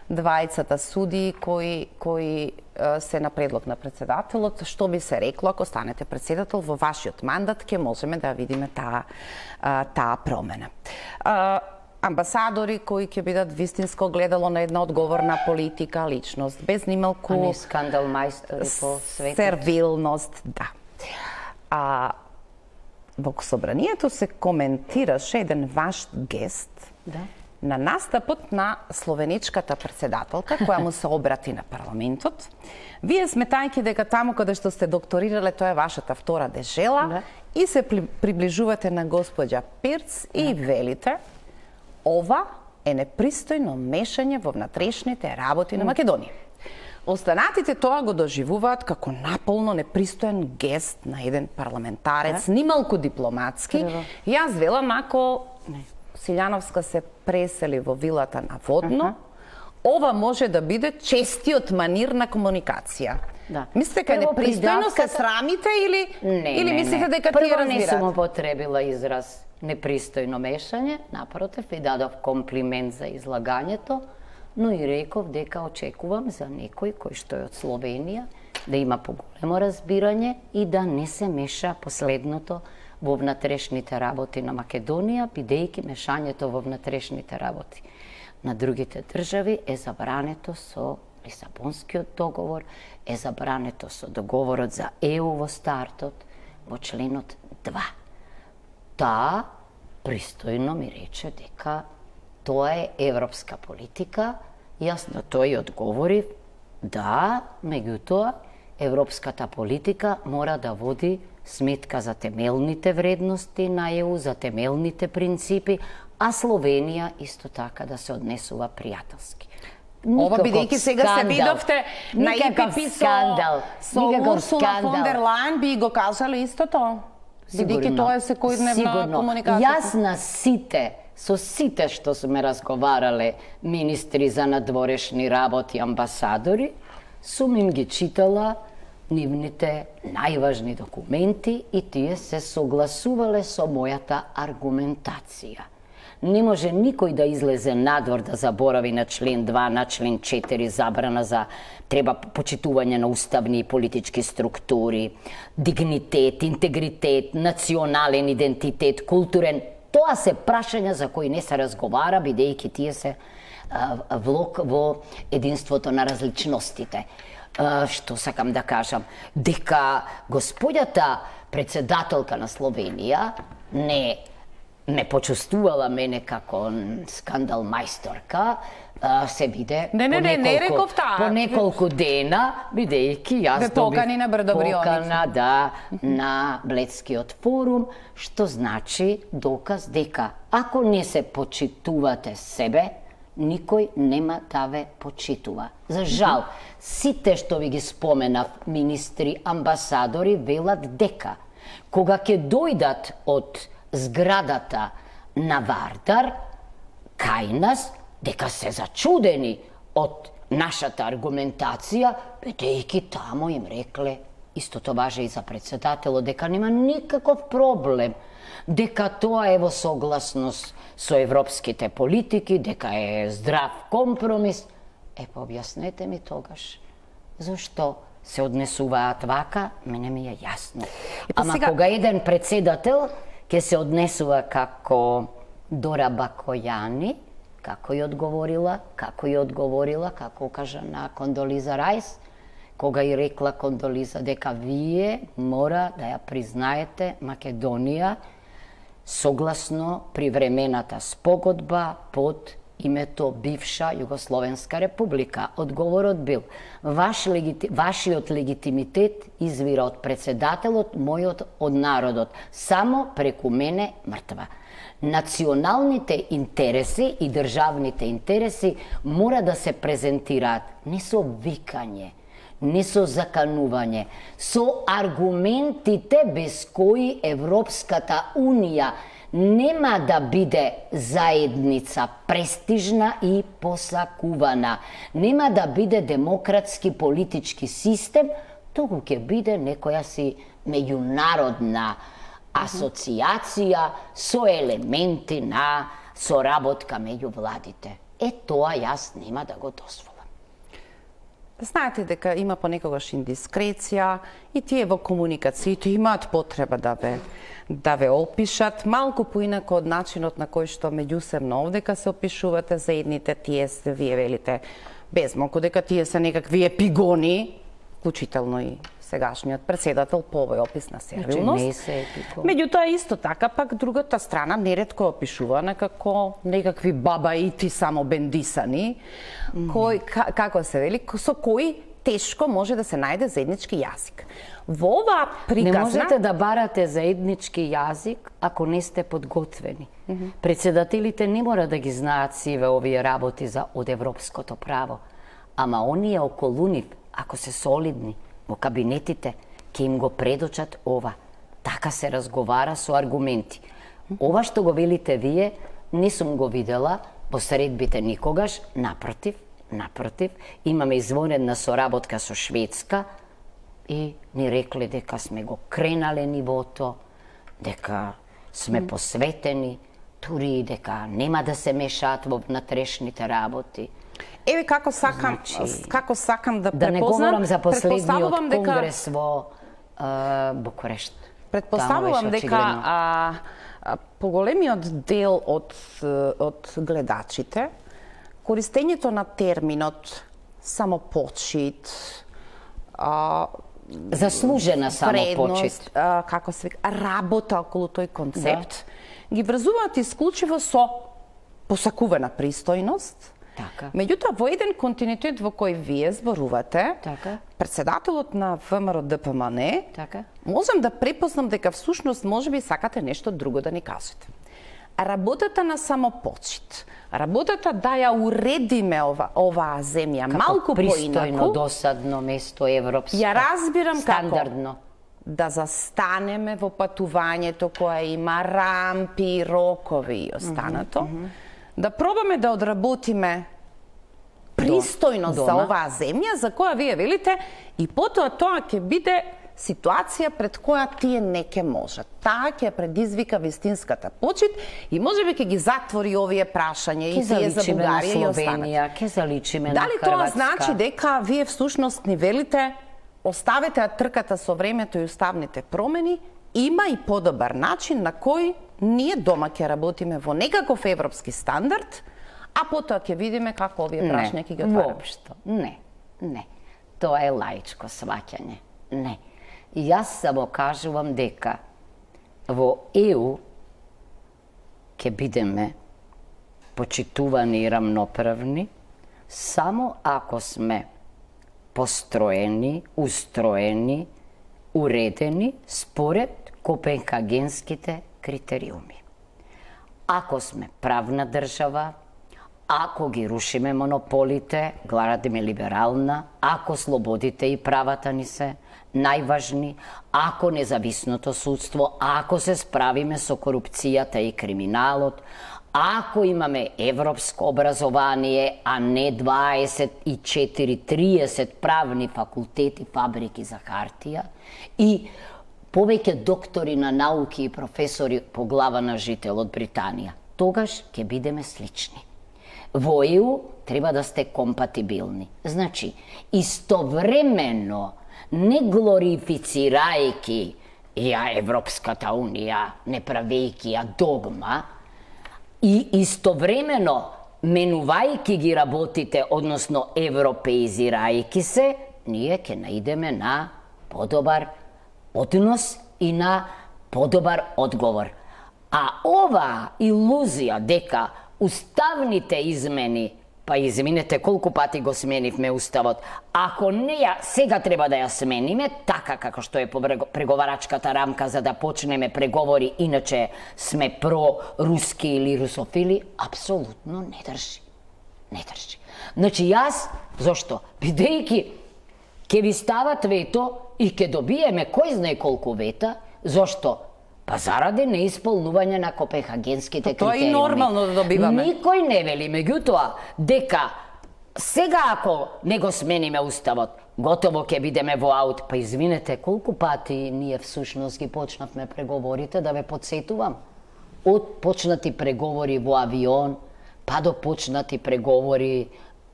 двајцата судии кои се на предлог на председателот. Што би се рекло ако станете председател во вашиот мандат, ќе можеме да видиме таа промена. Амбасадори кои ќе бидат вистинско гледало на една одговорна политика, личност, без нималку... А не скандал мајстори по светот. Сервилност, да. Во собранието се коментираше еден ваш гест на настапот на словеничката председателка, која му се обрати на парламентот. Вие сметајќи дека таму каде што сте докторирале, тоа е вашата втора дежела, и се приближувате на господја Пирц и велите: ова е непристојно мешање во внатрешните работи на Македонија. Останатите тоа го доживуваат како наполно непристоен гест на еден парламентарец, нималку дипломатски. Јас велам, ако Силјановска се пресели во вилата на Водно, ова може да биде честиот манир на комуникација. Мислите дека непристојно се срамите или мислите дека тие разбираат? Прво не сум употребила израз непристојно мешање, напротив, ви дадов комплимент за излагањето, но и реков дека очекувам за некој кој што е од Словенија да има поголемо разбирање и да не се меша последното во внатрешните работи на Македонија, бидејќи мешањето во внатрешните работи на другите држави е забрането со Лисабонскиот договор, е забрането со договорот за ЕУ во стартот, во членот 2. Таа пристојно ми рече дека тоа е европска политика. Јас на тој одговорив да, меѓутоа, европската политика мора да води сметка за темелните вредности на ЕУ, за темелните принципи, а Словенија исто така да се однесува пријателски. Ова бидејќи сега се видовте на ИПП со Урсула фон дер Лајен, би го кажале истото? Бидејќи тоа е секојдневна комуникација. Јас на сите, со сите што сме разговарале министри за надворешни работи, амбасадори, сум им ги читала нивните најважни документи и тие се согласувале со мојата аргументација. Не може никој да излезе надвор да заборави на член 2, на член 4, забрана за треба почитување на уставни и политички структури, дигнитет, интегритет, национален идентитет, културен. Тоа се прашања за кои не се разговара, бидејќи тие се влог во единството на различностите. Што сакам да кажам? Дека господјата председателка на Словенија не ме почувствувала мене како скандал мајсторка, се биде по неколку дена, бидејќи јас добив покана на Бледскиот форум, што значи доказ дека ако не се почитувате себе, никој нема да ве почитува. За жал, сите што ви ги споменав, министри, амбасадори, велат дека кога ќе дојдат од зградата на Вардар, кај нас, дека се зачудени од нашата аргументација, бидејќи таму им рекле, истото важи и за председателот, дека нема никаков проблем, дека тоа е во согласност со европските политики, дека е здрав компромис. Па објаснете ми тогаш, зашто се однесуваат вака, мене ми е јасно. Ама кога еден председател ќе се однесува како Дора Бакојани, како ја одговорила, како укажа на Кондолиза Рајс, кога и рекла Кондолиза дека вие мора да ја признаете Македонија согласно привремената спогодба под името бивша Југословенска република. Одговорот бил: вашиот легитимитет извира од председателот, мојот од народот. Само преку мене мртва. Националните интереси и државните интереси мора да се презентираат не со викање, не со заканување, со аргументите без кои Европската Унија нема да биде заедница престижна и посакувана, нема да биде демократски политички систем, туку ќе биде некоја си меѓународна асоциација со елементи на соработка меѓу владите. Тоа јас нема да го дозволам. Знаете дека има понекогаш индискреција и тие во комуникациите имаат потреба да ве опишат малку поинако од начинот на кој што меѓусебно овдека се опишувате за едните, тие се, вие велите без малку дека тие се некакви епигони, вклучително и сегашниот председател по овој опис на сервилност. Не се епигон. Меѓутоа исто така пак другата страна неретко е опишувана како некакви бабаити само бендисани, кои како се вели, со кои тешко може да се најде заеднички јазик. Во оваа приказна... Не можете да барате заеднички јазик ако не сте подготвени. Председателите не мора да ги знаат сиве овие работи од европското право, ама оние околу нив, ако се солидни во кабинетите, ќе им го предочат ова. Така се разговара со аргументи. Ова што го велите вие, не сум го видела во средбите никогаш, напротив, имаме извонедна соработка со Шведска и ни рекле дека сме го кренале нивото, дека сме посветени, дури дека нема да се мешаат во внатрешните работи. Еве како сакам да Да не говорам за последниот дека конгрес во Букурешт. Предпоставувам дека поголемиот дел од гледачите користењето на терминот самопочит, заслужена самопочит, како се вика, работа околу тој концепт, ги врзуваат исклучиво со посакувана пристојност. Така. Меѓутоа, во еден континуитет во кој вие зборувате, така, председателот на ВМРО ДПМН, така, можам да препознам дека всушност можеби сакате нешто друго да ни кажете. Работата на самопочит, работата да ја уредиме оваа земја малку поинаку, пристојно, досадно место европско, ја разбирам стандардно. Како да застанеме во патувањето кое има рампи, рокови и останато, да пробаме да одработиме пристојност за оваа земја, за која вие велите, и потоа тоа ќе биде ситуација пред која тие не ќе можат. Таа ќе предизвика вистинската почит и можеби ќе ги затвори овие прашања и тие за Бугарија и останато. Ке заличиме на Хрватска. Дали тоа значи дека вие всушност ни велите оставете трката со времето и уставните промени, има и подобар начин на кој ние дома ќе работиме во некаков европски стандард, а потоа ќе видиме како овие прашања ќе ги отвараме. Воопшто, не. Тоа е лаичко сваќање. Не. Јас само кажувам дека во ЕУ ќе бидеме почитувани и рамноправни само ако сме построени, устроени, уредени според копенхагенските критериуми. Ако сме правна држава, ако ги рушиме монополите, градиме либерална, ако слободите и правата ни се најважни, ако независното судство, ако се справиме со корупцијата и криминалот, ако имаме европско образование, а не 24-30 правни факултети, фабрики за хартија и повеќе доктори на науки и професори по глава на жител од Британија, тогаш ќе бидеме слични. Во ЕУ треба да сте компатибилни. Значи, истовремено, не глорифицирајќи ја Европската Унија, не правејќи ја догма, и истовремено менувајќи ги работите, односно европеизирајќи се, ние ќе наидеме на подобар однос и на подобар одговор. А ова илузија дека уставните измени, па извинете колку пати го сменивме уставот, ако не ја сега треба да ја смениме, така како што е по преговарачката рамка за да почнеме преговори, иначе сме про-руски или русофили, апсолутно не држи. Не држи. Значи јас, зошто? Бидејќи ќе ви стават вето и ќе добиеме кој знае колку вета, зошто? Па заради неисполнување на копенхагенските критериуми. Тоа е и нормално да добиваме. Никој не вели, меѓутоа, дека сега ако не го смениме уставот, готово ќе бидеме во аут. Па извинете, колку пати ние всушност ги почнавме преговорите, да ве подсетувам. Од почнати преговори во авион, па до почнати преговори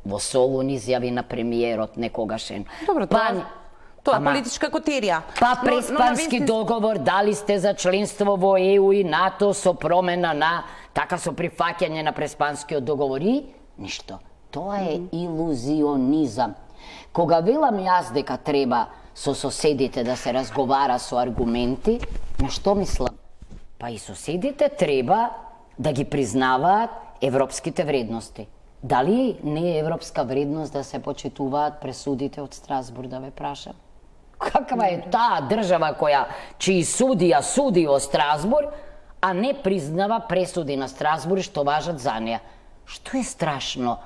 во Солун, изјави на премиерот некогашен. Добро, тоа е политичка котерија. Па преспански договор, дали сте за членство во ЕУ и НАТО со промена на, така со прифаќање на преспанскиот договор и ништо. Тоа е илузионизам. Кога велам јас дека треба со соседите да се разговара со аргументи, на што мислам? Па и соседите треба да ги признаваат европските вредности. Дали не е европска вредност да се почитуваат пресудите од Страсбург, да ве прашам? Каква е таа држава чии судија суди во Страсбург, а не признава пресуди на Страсбург што важат за неа? Што е страшно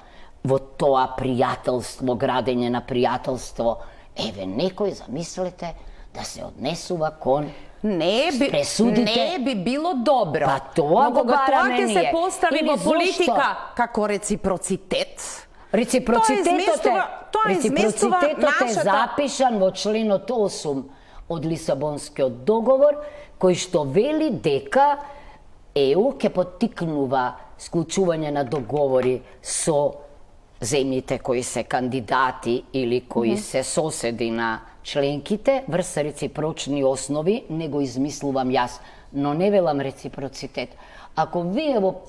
во тоа пријателство, градење на пријателство? Еве, некој, замислете, да се однесува кон Не би било добро. Па тоа го бараме ние. Тоа ќе се постави во политика како реципроцитет. Реципрocitetot е запишан во членот 8 од Лисабонскиот договор, кој што вели дека ЕУ ќе поттикнува склучување на договори со земјите кои се кандидати или кои се соседи на членките врз реципрочни основи. Не го измислувам јас, но не велам реципроцитет. Ако вие во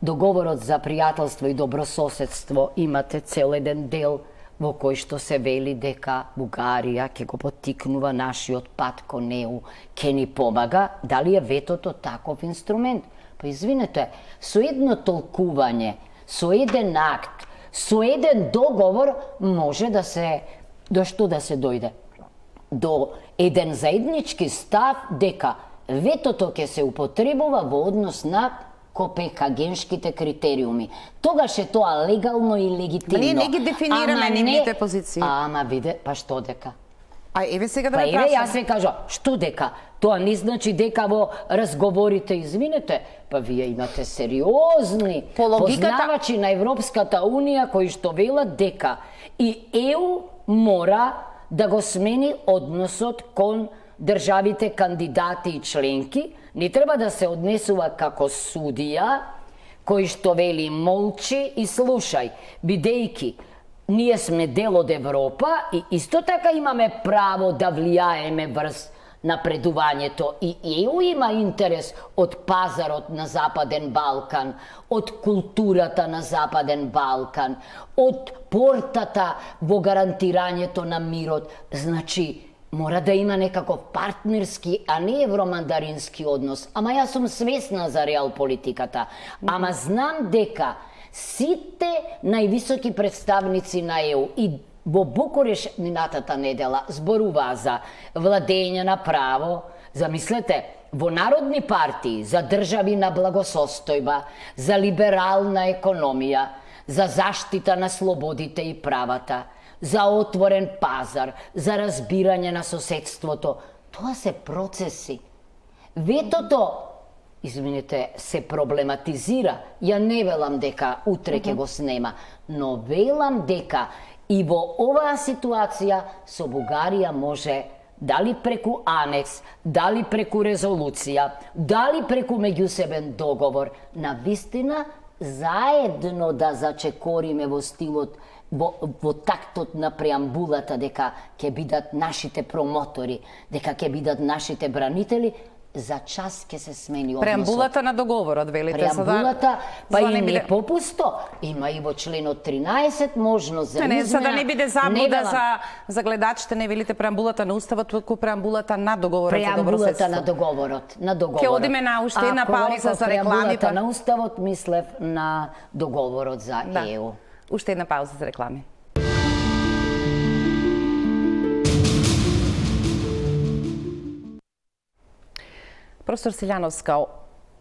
договорот за пријателство и добрососедство имате цел еден дел во кој што се вели дека Бугарија ќе го поттикнува нашиот пат кон ЕУ, ќе ни помага, дали е ветото таков инструмент? Па извинете, со едно толкување, со еден акт, со еден договор може да се, до што да се дојде? До еден заеднички став дека ветото ќе се употребува во однос на копенхагенските критериуми. Тогаш е тоа легално и легитимно. Ние не ги дефинираме нивните позиции. Ама виде, па што дека? А еве сега да ме прашам. Па еве јас ве кажам, што дека? Тоа не значи дека во разговорите, извинете, па вие имате сериозни познавачи на Европската Унија кои што велат дека и ЕУ мора да го смени односот кон државите кандидати и членки, не треба да се однесува како судија, кој што вели молчи и слушај, бидејќи ние сме дел од Европа и исто така имаме право да влијаеме врз напредувањето и ЕУ има интерес од пазарот на Западен Балкан, од културата на Западен Балкан, од портата во гарантирањето на мирот. Значи, мора да има некаков партнерски, а не евромандарински однос. Ама јас сум свесна за реал политиката. Ама знам дека сите највисоки представници на ЕУ и во Букуреш минатата недела зборуваа за владење на право, замислете, во народни партии, за држави на благосостојба, за либерална економија, за заштита на слободите и правата, за отворен пазар, за разбирање на соседството. Тоа се процеси. Ветото, извинете, се проблематизира. Ја не велам дека утре ќе го снема, но велам дека и во оваа ситуација со Бугарија може, дали преку анекс, дали преку резолуција, дали преку меѓусебен договор, на вистина заедно да зачекориме во стилот, во тактот на преамбулата дека ќе бидат нашите промотори, дека ќе бидат нашите бранители, за час ќе се смени односот. Преамбулата на договорот, велите. Преамбулата, па и не попусто. Има и во членот 13 можност за измена. За да не биде заблуда за гледачите, не велите преамбулата на уставот, туку преамбулата на договорот за добрососедство. Преамбулата на договорот. Ќе одиме на уште една пауза за реклами. Преамбулата на уставот, мислев на договорот за ЕУ. Уште една пауза за реклами. Професор Силјановска,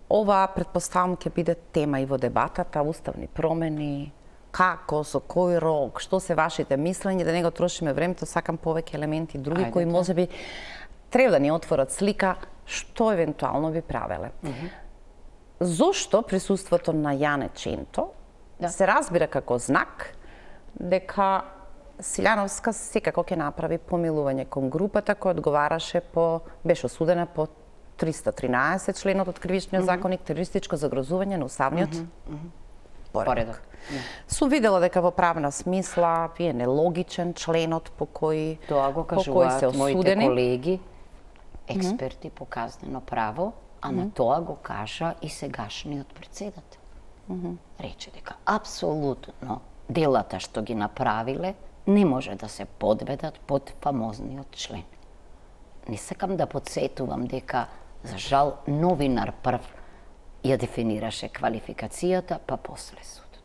ова предпоставам ќе биде тема и во дебатата, уставни промени, како, со кој рок, што се вашите мислења, да не го трошиме времето, сакам повеќе елементи други кои можеби треба да ни отворат слика што евентуално би правеле. Зошто присуството на Јане Ченто се разбира како знак дека Силјановска секако ќе направи помилување кон групата која одговараше беше осудена по 313 членот од Кривичниот законник, терористичко загрозување на уставниот поредок. Сум видела дека во правна смисла вие нелогичен членот по кој тоа го кажуваат моите колеги, експерти по казнено право, ама тоа го кажа и сегашниот председател. Рече дека апсолутно делата што ги направиле не може да се подведат под фамозниот член. Не сакам да подсетувам дека, за жал, новинар прв ја дефинираше квалификацијата, па после судот.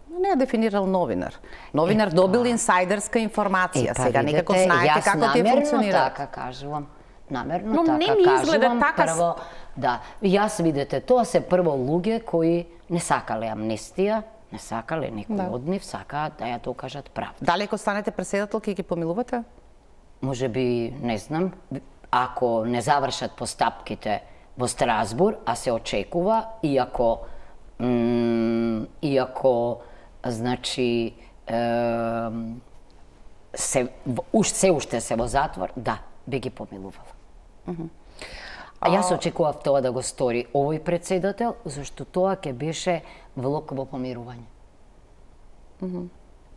Не ја дефинирал новинар. Новинар добил инсайдерска информација. Сега некако знаете како ти функционира. Јас намерно така кажувам. Намерно така кажувам. Прво, да, јас видете, тоа се прво луѓе кои не сакале амнестија, не сакале некој од нив, сакаат да ја докажат правда. Дали ако станете председател, ќе ги помилувате? Може би, не знам, ако не завршат постапките во Страсбур, а се очекува, иако значи, се уште се во затвор, да, би ги помилувала. Јас очекував тоа да го стори овој председател, зашто тоа ќе беше влог во помирување.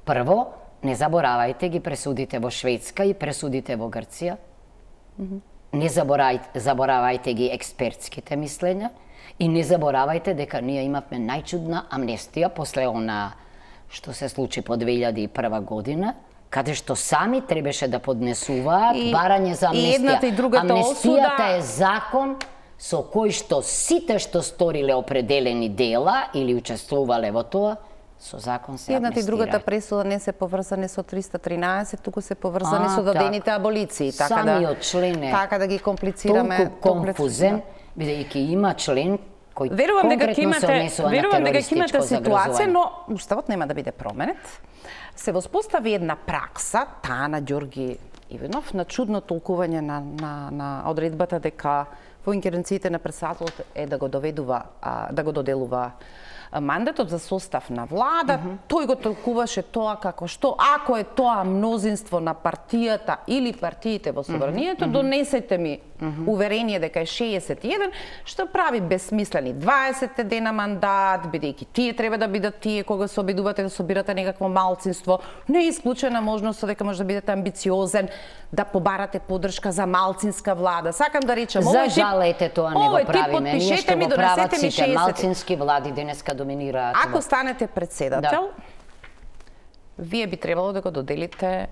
Прво, не заборавајте ги пресудите во Шведска и пресудите во Грција. Не заборавајте ги експертските мислења и не заборавајте дека ние имавме најчудна амнестија после она што се случи по 2001 година, каде што сами требаше да поднесуваат барање за амнестија. Амнестијата е закон со кој што сите што сториле определени дела или учествувале во тоа, со закон се амнестираат. Едната и другата пресуда не се поврзани со 313, туку се поврзани со дадените аболиции. Самиот член е така да ги комплицираме. Толку конфузен, бидејќи има член кој конкретно се однесува на терористичко ситуација, но уставот нема да биде променет. Се воспостави една пракса, таа на Ѓорги Иванов, на чудно толкување на одредбата дека во инкеренциите на председателот е да го доделува мандатот за состав на влада. Тој го толкуваше тоа како што ако е тоа мнозинство на партијата или партиите во собранието, донесете ми уверение дека е 61, што прави безсмислени 20 дена мандат, бидејќи тие треба да бидат тие кога се обидувате да собирате некакво малцинство. Не е исклучена можност дека може да бидете амбициозен, да побарате поддршка за малцинска влада. Сакам да речам, за жалете тоа не го правиме, ние што го прават сите малцински влади денеска доминираат. Ако станете председател, вие би требало да го доделите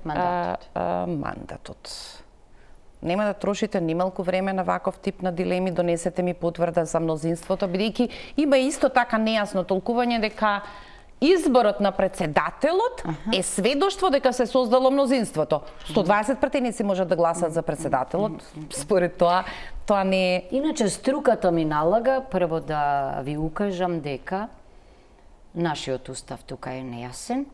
мандатот. Нема да трошите нималку време на ваков тип на дилеми, донесете ми потврда за мнозинството, бидејќи има исто така нејасно толкување дека изборот на председателот е сведоштво дека се создало мнозинството. 120 пратеници можат да гласат за председателот. Според тоа не е... Иначе струката ми налага прво да ви укажам дека нашиот устав тука е нејасен.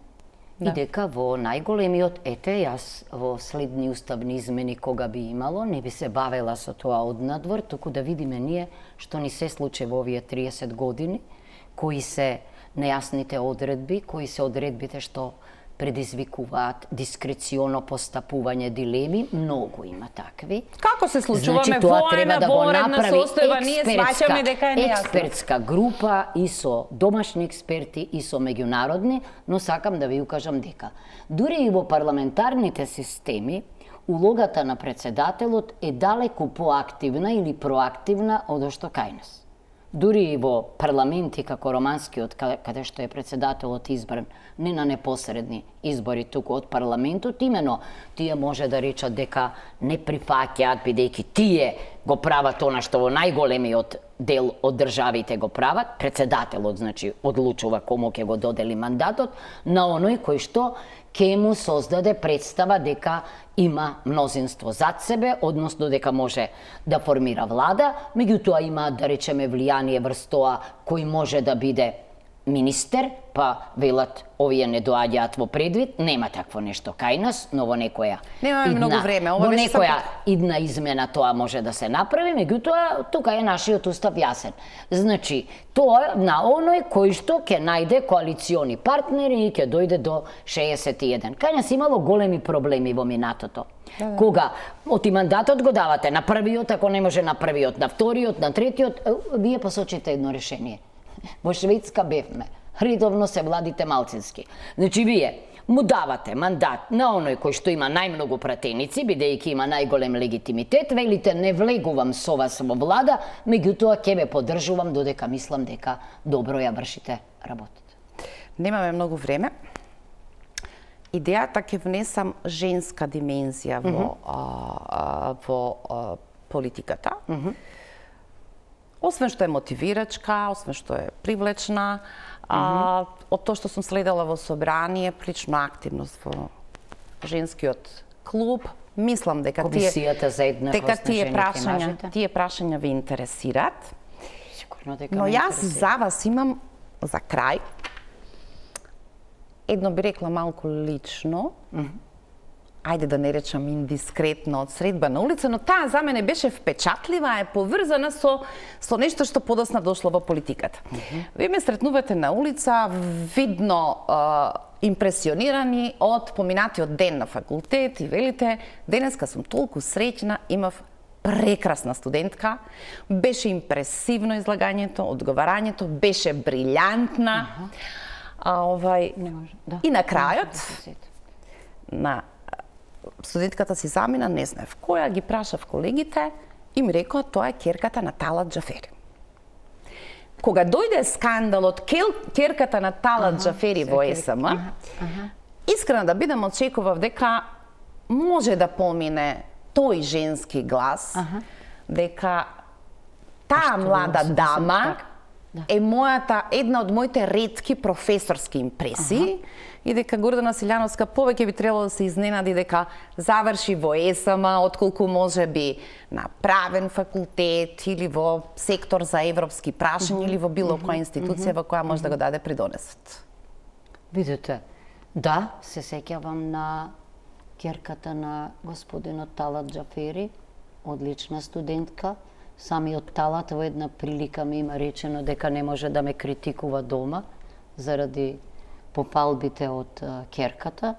И дека во најголемиот, јас во следни уставни измени кога би имало, не би се бавела со тоа однадвор, туку да видиме ние што ни се случи во овие 30 години, кои се нејасните одредби, кои се одредбите што предизвикуваат дискреционо постапување дилеми, многу има такви. Како се случуваме воена, воредна состојба, ние сваќаме дека е нејасно. Експертска група и со домашни експерти и со меѓународни, но сакам да ви укажам дека дури и во парламентарните системи улогата на председателот е далеку поактивна или проактивна од што кај нас. Дури и во парламенти како романскиот, каде што е председателот избран, не на непосредни избори туку од парламентот, имено тие може да речат дека не прифаќаат, бидејќи тие го прават она што во најголемиот дел од државите го прават, председателот, значи, одлучува кому ќе го додели мандатот, на оној кој што ќе му создаде представа дека има мнозинство зад себе, односно дека може да формира влада, меѓутоа има, да речеме, влијание врз тоа кој може да биде министер, па велат овие не доаѓаат во предвид, нема такво нешто кај нас, но во некоја многу време, во некоја идна измена тоа може да се направи, меѓутоа тука е нашиот устав јасен. Значи, тоа на оној кој што ќе најде коалициони партнери и ќе дојде до 61. Кај нас имало големи проблеми во минатото. Кога од и мандатот го давате на првиот, ако не може на првиот, на вториот, на третиот, вие посочите едно решение. Во Шведска бевме, редовно се владите малцински. Значи вие му давате мандат на оној кој што има најмногу пратеници, бидејќи има најголем легитимитет, велите не влегувам со вас во влада, меѓутоа ќе ве поддржувам додека мислам дека добро ја вршите работата. Немаме многу време. Идејата ќе внесам женска димензија во политиката. Освен што е мотивирачка, освен што е привлечна, од тоа што сум следела во собрание, прилично активност во женскиот клуб, мислам дека тие прашања ви интересираат. Но јас за вас имам за крај едно би рекла малку лично, ајде да не речам индискретно од средба на улица, но таа за мене беше впечатлива, е поврзана со нешто што подосна дошло во политиката. Вие ме сретнувате на улица, видно импресионирани од поминатиот ден на факултет и велите, денеска сум толку среќна, имав прекрасна студентка, беше импресивно излагањето, одговарањето, беше брилјантна. И на крајот, на студентката си замина, не знаев која, ги прашав колегите и ми рекоа тоа е ќерката на Талат Џафери. Кога дојде скандалот ќерката на Талат Џафери во СМ, искрено да бидам очекував дека може да помине тој женски глас, дека таа млада дама е една од моите ретки професорски импресии и дека Гордана Силјановска повеќе би требало да се изненади дека заврши во ЕСМ, отколку може би на правен факултет или во сектор за европски прашања или во било која институција во која може да го даде придонесот. Видите, да, се сеќавам на ќерката на господинот Талат Џафери, одлична студентка. Самиот Талат во една прилика ми има речено дека не може да ме критикува дома заради пофалбите од ќерката.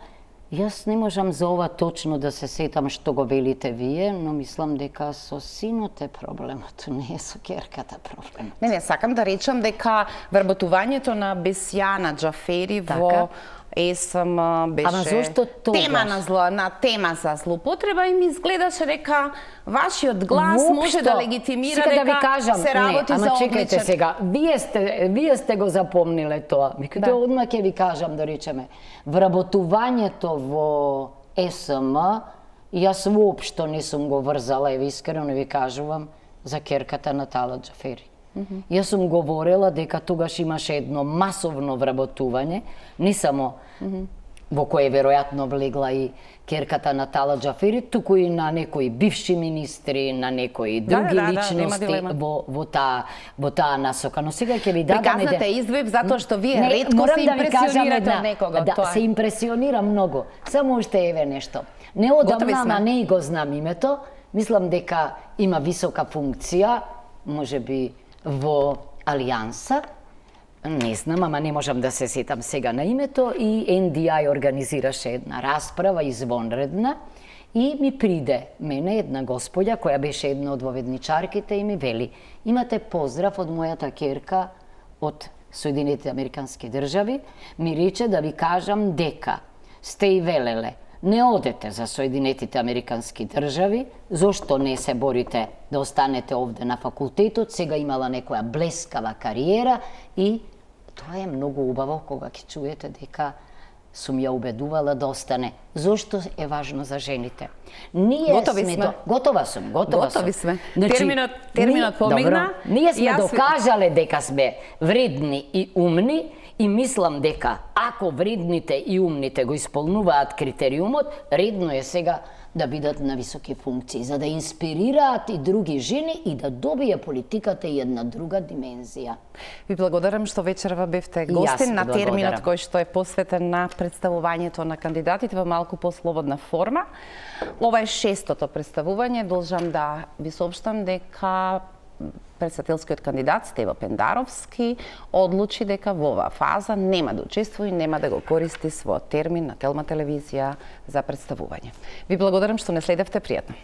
Јас не можам за ова точно да се сетам што го велите вие, но мислам дека со синот е проблемот, не е со ќерката проблемот. Не, сакам да речам дека вработувањето на Бесјана Џафери во ЕСМ беше тема за злоупотреба и ми изгледаше дека вашиот глас може да легитимира дека се работи за одличен. Чекајте сега, вие сте го запомниле тоа. Микате одма ќе ви кажам, да речеме, вработувањето во ЕСМ, јас воопшто не сум го врзала, и искрено ви кажувам, за ќерката на Талат Џафери. Јас сум говорела дека тогаш имаше едно масовно вработување, не само во кое веројатно влегла и ќерката на Талат Џафери, туку и на некои бивши министри, на некои други личности во таа насока. Но сега ќе ви дадам приказната издвојб затоа што вие ретко се импресионирате од некого. Да, се импресионирам многу. Само уште еве нешто. Неодамна, ама не и го знам името, мислам дека има висока функција, можеби во Алијанса, не знам, ама не можам да се сетам сега на името, и NDI организираше една расправа извонредна и ми приде мене една господја која беше една од воведничарките и ми вели: имате поздрав од мојата ќерка од Соединетите Американски држави, ми рече да ви кажам дека сте и велеле не одете за Соединетите Американски држави, зошто не се борите да останете овде на факултетот, сега имала некоја блескава кариера и тоа е многу убаво кога ќе чуете дека сум ја убедувала да остане. Зошто е важно за жените? Ние Готови сме. Готова сум. Готови сме. Значи, терминот помигна. Добро, ние сме докажале дека сме вредни и умни и мислам дека ако вредните и умните го исполнуваат критериумот, редно е сега да бидат на високи функции, за да инспирираат и други жени и да добие политиката и една друга димензија. Ви благодарам што вечерва бевте гостин на терминот кој што е посветен на представувањето на кандидатите во малку послободна форма. Ова е 6-тото представување. Должам да ви соопштам дека председателскиот кандидат Стево Пендаровски одлучи дека во оваа фаза нема да учествува и нема да го користи својот термин на Телма телевизија за представување. Ви благодарам што не следевте, пријатно.